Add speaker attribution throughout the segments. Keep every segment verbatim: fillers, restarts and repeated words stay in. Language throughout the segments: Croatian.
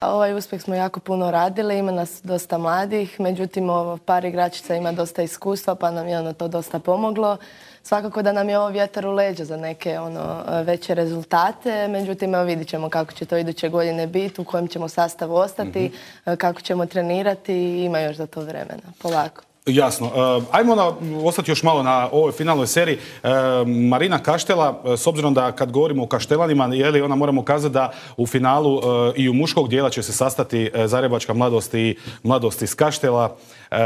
Speaker 1: Ovaj uspjeh smo jako puno radili, ima nas dosta mladih, međutim ovo, par igračica ima dosta iskustva pa nam je ono to dosta pomoglo. Svakako da nam je ovo vjetar u leđa za neke ono, veće rezultate, međutim evo, vidit ćemo kako će to iduće godine biti, u kojem ćemo sastavu ostati, mm-hmm. kako ćemo trenirati i ima još za to vremena, polako.
Speaker 2: Jasno. Uh, ajmo na, ostati još malo na ovoj finalnoj seriji. Uh, Marina Kaštela, s obzirom da kad govorimo o Kaštelanima, je li ona moramo kazati da u finalu uh, i u muškog dijela će se sastati uh, Zagrebačka mladost i mladost iz Kaštela uh,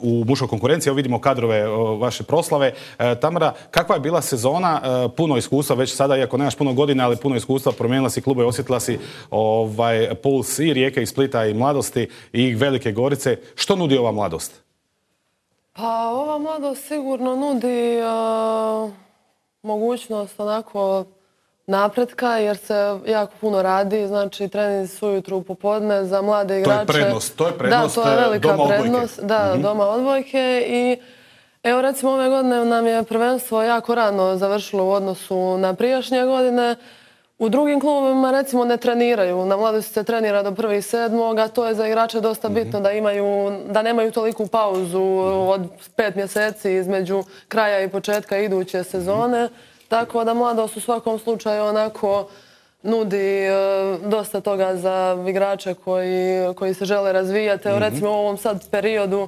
Speaker 2: u muškoj konkurenciji. Evo vidimo kadrove uh, vaše proslave. Uh, Tamara, kakva je bila sezona? Uh, puno iskustva već sada, iako nemaš puno godina, ali puno iskustva, promijenila si klube, osjetila si ovaj, puls i Rijeke i Splita i mladosti i Velike Gorice. Što nudi ova mladost?
Speaker 3: Pa ova mladost sigurno nudi uh, mogućnost onako napretka jer se jako puno radi, znači treninzi su ujutru popodne za mlade igrače.
Speaker 2: To je prednost, to je prednost
Speaker 3: da, to je velika
Speaker 2: doma
Speaker 3: prednost,
Speaker 2: odbojke.
Speaker 3: Da,
Speaker 2: mm-hmm.
Speaker 3: doma odbojke i evo recimo ove godine nam je prvenstvo jako rano završilo u odnosu na prijašnje godine. U drugim klubovima recimo ne treniraju, na mladosti se trenira do prvog sedmog, a to je za igrače dosta bitno da imaju, da nemaju toliku pauzu od pet mjeseci između kraja i početka iduće sezone, tako da mladost u svakom slučaju onako nudi e, dosta toga za igrače koji, koji se žele razvijati. Evo recimo u ovom sad periodu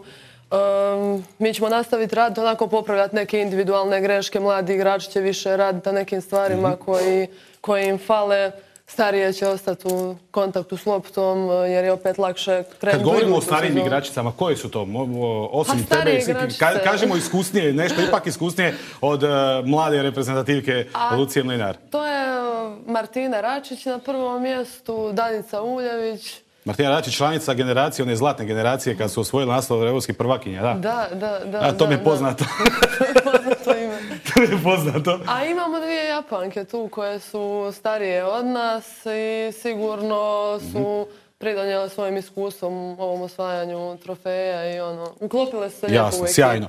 Speaker 3: Um, mi ćemo nastaviti raditi, onako popravljati neke individualne greške, mladi igrači će više raditi na nekim stvarima mm-hmm. koji, koji im fale, starije će ostati u kontaktu s loptom jer je opet lakše krenuti.
Speaker 2: Kad govorimo o starijim igračicama, koje su to? Osim
Speaker 3: pa
Speaker 2: tebe, ka, kažemo iskusnije, nešto ipak iskusnije od uh, mlade reprezentativke A, Lucije Mlinar.
Speaker 3: To je Martina Račić na prvom mjestu, Danica Uljević.
Speaker 2: Martina Račić, članica generacije, one zlatne generacije kad su osvojili naslov europskih prvakinja, da?
Speaker 3: Da, da, da.
Speaker 2: A to mi je poznato.
Speaker 3: To je poznato ime.
Speaker 2: To mi je poznato.
Speaker 3: A imamo dvije Japanke tu koje su starije od nas i sigurno su pridonijele svojim iskustvom ovom osvajanju trofeja i ono, uklopile se lijepo u ekipu.
Speaker 2: Jasno, sjajno.